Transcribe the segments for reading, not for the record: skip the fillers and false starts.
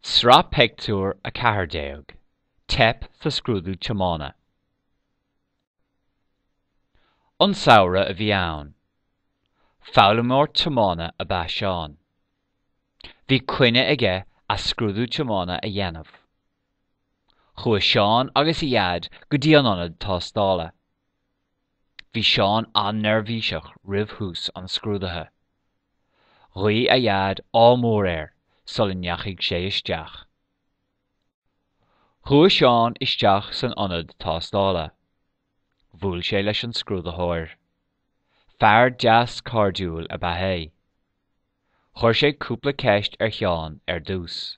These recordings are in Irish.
Sraith Pictiúr 14, Teip sa scrúdú tiomána. An samhradh a bhí ann. Foghlaimeoir tiomána ab ea Seán. Bhí coinne aige a scrúdú tiomána a dhéanamh. Chuaigh Seán agus a Dhaid go dtí an ionad tástála. Bhí Seán an-neirbhíseach roimh thús an scrúdaithe. Ghuigh a Dhaid ádh mór air sula ndeachaigh sé isteach. Chuaigh Seán isteach san ionad tástála. Bhuail sé leis an scrúdaitheoir. Fear deas cairdiúil ab ea é. Chuir sé cúpla ceist ar Sheán ar dtús.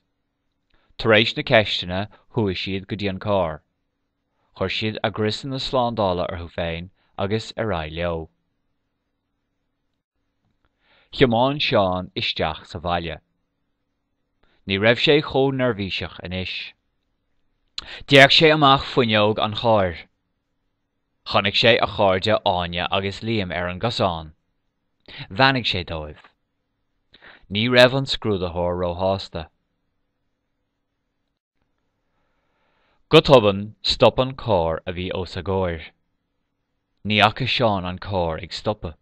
Tar éis na ceisteanna chuaigh siad go dtí an carr. Chuir siad a gcriosanna slándála orthu féin agus ar aghaidh leo. Thiomáin Seán isteach sa bhaile. Ní raibh sé chomh neirbhíseach anois. D'fhéach sé amach fuinneog an chairr. Chonaic sé a chairde Áine agus Liam ar an gcosán. Bheannaigh sé dóibh. Ní raibh an scrúdaitheoir róshásta. Go tobann, stop an carr a bhí os a gcomhair. Ní fhaca Seán an carr ag stopadh.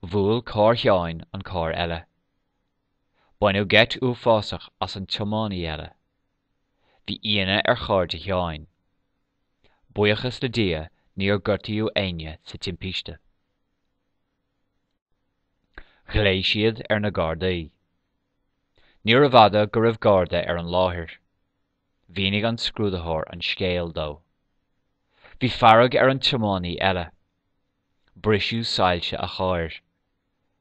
Bhuail carr Sheáin an carr eile. Baineadh geit uafásach as an tiománaí eile. Bhí ionadh ar chairde Sheáin. Buíochas le Dia níor gortaíodh éinne sa timpiste. Ghlaoigh siad ar na Gardaí. Níorbh fhada go raibh Garda ar an láthair. Mhínigh an scrúdaitheoir an scéal dó. Bhí fearg ar an tiománaí eile. Briseadh soilse a chairr.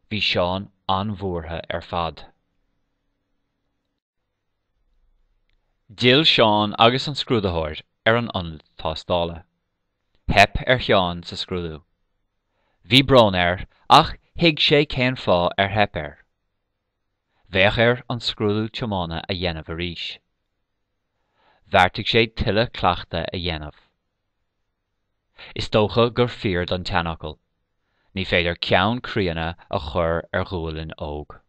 Bhí Seán an-bhuartha ar fad. D'fhill Seán agus an scrúdaitheoir ar an ionad tástála. Theip ar Sheán sa scrúdú. Bhí brón air ach thuig sé cén fáth ar theip air. Bheadh air an scrúdú tiomána a dhéanamh arís. Bheartaigh sé tuilleadh cleachtaidh a dhéanamh. Is dócha gur fíor don tseanfhocal, ní féidir ceann críonna a chur ar ghualainn óg.